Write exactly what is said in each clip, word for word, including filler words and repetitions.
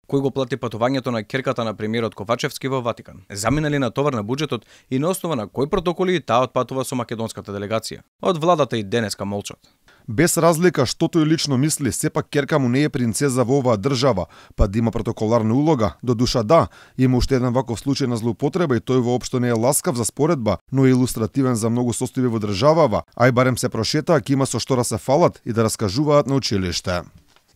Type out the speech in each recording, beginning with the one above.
кој го плати патувањето на ќерката на премиерот Ковачевски во Ватикан? Заминали на товар на буџетот и на основа на кои протоколи таа отпатува со македонската делегација? Од владата и денеска молчат. Без разлика што тој лично мисли, сепак ќерка му не е принцеза во оваа држава, па да има протоколарна улога. До душа да, има уште еден ваков случај на злоупотреба и тој воопшто не е ласкав за споредба, но е илустративен за многу состојби во државава, ај барем се прошетаа, ќе има со што да се фалат и да раскажуваат на училиште.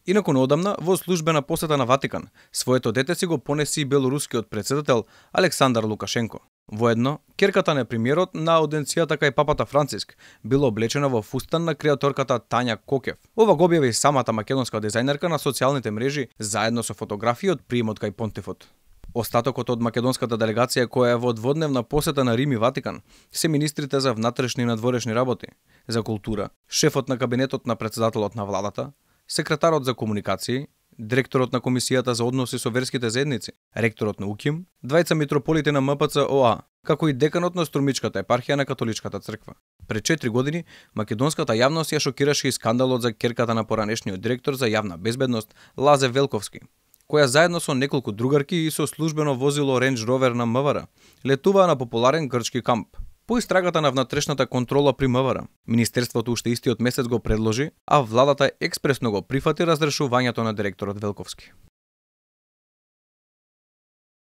Инаку одамна, во службена посета на Ватикан, своето дете си го понеси и белорускиот председател Александар Лукашенко. Воедно, ќерката на премиерот на ауденцијата кај папата Франциск била облечена во фустан на креаторката Тања Кокев. Ова го објави самата македонска дизајнерка на социјалните мрежи заедно со фотографии од приемот кај понтифот. Остатокот од македонската делегација која е во дводневна посета на Рим и Ватикан се министрите за внатрешни и надворешни работи, за култура, шефот на кабинетот на председателот на владата, секретарот за комуникации, директорот на Комисијата за односи со верските заедници, ректорот на УКИМ, двајца митрополити на МПЦ-ОА, како и деканот на Струмичката епархија на Католичката црква. Пред четири години, македонската јавност ја шокираше и скандалот за ќерката на поранешниот директор за јавна безбедност Лазе Велковски, која заедно со неколку другарки и со службено возило Range Rover на МВР летуваа на популарен грчки камп. По истрагата на внатрешната контрола при МВР, Министерството уште истиот месец го предложи, а владата експресно го прифати разрешувањето на директорот Велковски.